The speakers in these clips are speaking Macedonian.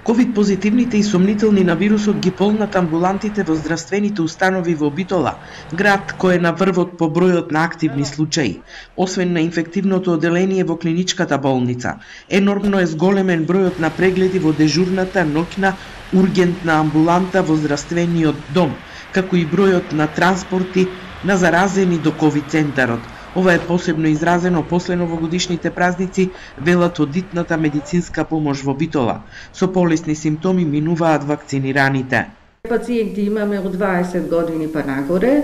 Ковид позитивните и сомнителни на вирусот ги полнат амбулантите во здравствените установи во Битола, град кој е на врвот по бројот на активни случаи. Освен на инфективното оделение во клиничката болница, енормно е зголемен бројот на прегледи во дежурната ноќна ургентна амбуланта во здравствениот дом, како и бројот на транспорти на заразени до ковид центарот. Ова е посебно изразено после новогодишните празници, велат од дитната медицинска помош во Битола. Со полесни симптоми минуваат вакцинираните. Пациенти имаме од 20 години па нагоре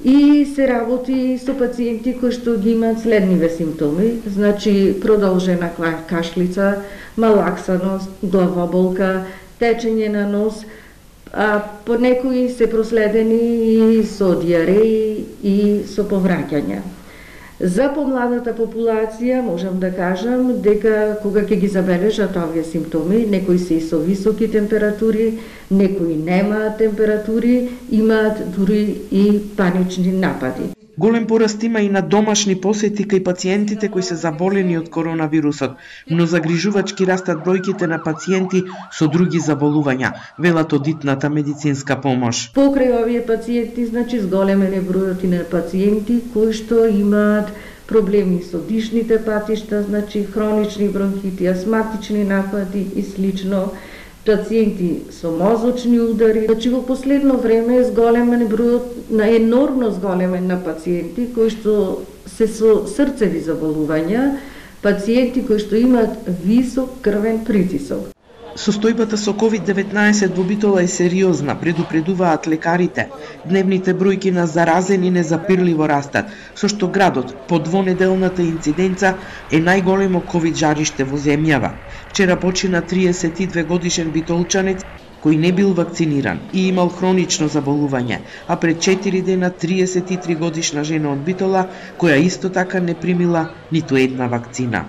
и се работи со пациенти кои што ги имаат следниве симптоми, значи продолжена кашлица, малаксаност, главоболка, течење на нос, а по некои се проследени и со диареи и со повраќања. За помладата популација можам да кажам дека кога ќе ги забележат овие симптоми, некои се и со високи температури, некои немаат температури, имаат дури и панични напади. Голем пораст има и на домашни посети кај пациентите кои се заболени од коронавирусот, но загрижувачки растат бројките на пациенти со други заболувања, велат од дитната медицинска помош. Покрај овие пациенти, значи зголемен е бројот и на пациенти кои што имаат проблеми со дишните патишта, значи хронични бронхити, астматични напади и слично, пациенти со мозочни удари. Значи во последно време е зголемен бројот, енормно зголемен на пациенти кои што се со срцеви заболувања, пациенти кои што имаат висок крвен притисок. Состојбата со COVID-19 во Битола е сериозна, предупредуваат лекарите. Дневните бројки на заразени незапирливо растат, со што градот по двонеделната инциденца е најголемо ковид жариште во земјава. Вчера почина 32 годишен битолчанец кој не бил вакциниран и имал хронично заболување, а пред 4 дена 33 годишна жена од Битола која исто така не примила ниту една вакцина.